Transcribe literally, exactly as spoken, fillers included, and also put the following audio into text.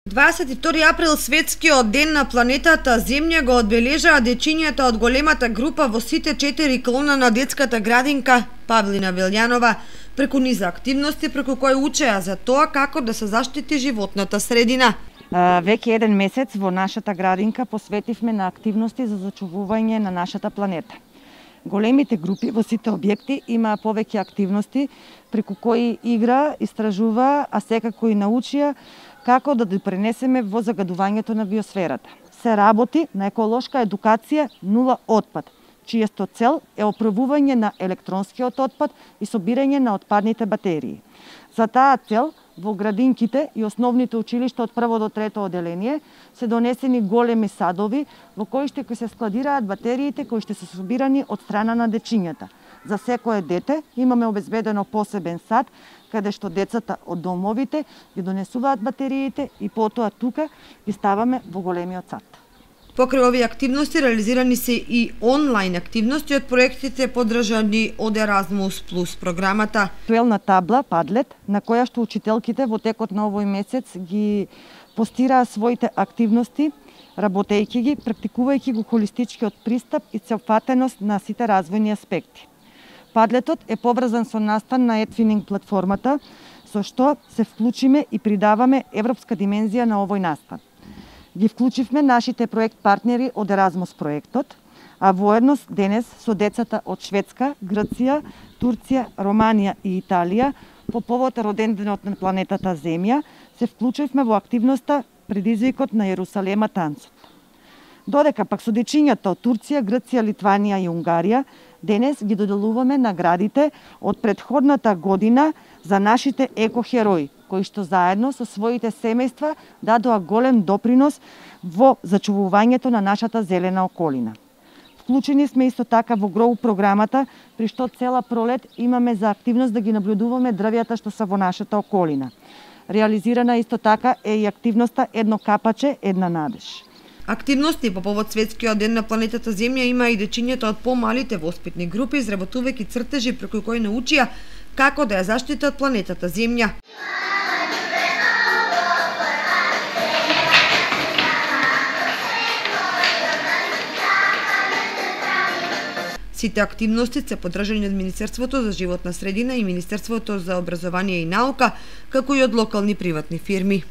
дваесет и втори април, светскиот ден на планетата Земја, го одбележаа дечињата од големата група во сите четири клона на детската градинка Павлина Велјанова, преку низа активности преку кои учеа за тоа како да се заштити животната средина. Веќе еден месец во нашата градинка посветивме на активности за зачувување на нашата планета. Големите групи во сите објекти имаа повеќе активности преку кои игра, истражува, а секако и научија како да допринесеме во загадувањето на биосферата. Се работи на еколошка едукација нула отпад, чијесто цел е оправување на електронскиот отпад и собирање на отпадните батерии. За таа цел, во градинките и основните училишта од прво до трето оделение се донесени големи садови во кои ще се складираат батериите кои ще се собирани од страна на дечињата. За секое дете имаме обезбедено посебен сад каде што децата од домовите ги донесуваат батериите и потоа тука ги ставаме во големиот сад. Покрај овие активности реализирани се и онлайн активности од проектите поддржани од Еразмус плюс програмата. Виртуелна табла Padlet, на која што учителките во текот на овој месец ги постираа своите активности, работејќи ги, практикувајќи го холистичкиот пристап и целфатеност на сите развојни аспекти. Padletот е поврзан со настан на Edwinning платформата, со што се вклучиме и придаваме европска димензија на овој настан. Ги вклучивме нашите проект партнери од Еразмус проектот, а воедно денес со децата од Шведска, Грција, Турција, Романија и Италија по повод роденденот на планетата Земја се вклучивме во активноста предизвикот на Јерусалема танцот. Додека пак со дечињата од Турција, Грција, Литванија и Унгарија денес ги доделуваме наградите од претходната година за нашите екохерои, кои што заедно со своите семејства дадоа голем допринос во зачувувањето на нашата зелена околина. Вклучени сме исто така во Grow програмата, при што цела пролет имаме за активност да ги наблюдуваме дрвјата што се во нашата околина. Реализирана исто така е и активноста Едно капаче, една надеж. Активности по повод светскиот ден на планетата Земја има и дечињата од помалите воспитни групи, изработувајќи цртежи преку кои научија како да ја заштитат планетата Земја. Сите активности се поддржани од Министерството за животна средина и Министерството за образование и наука, како и од локални приватни фирми.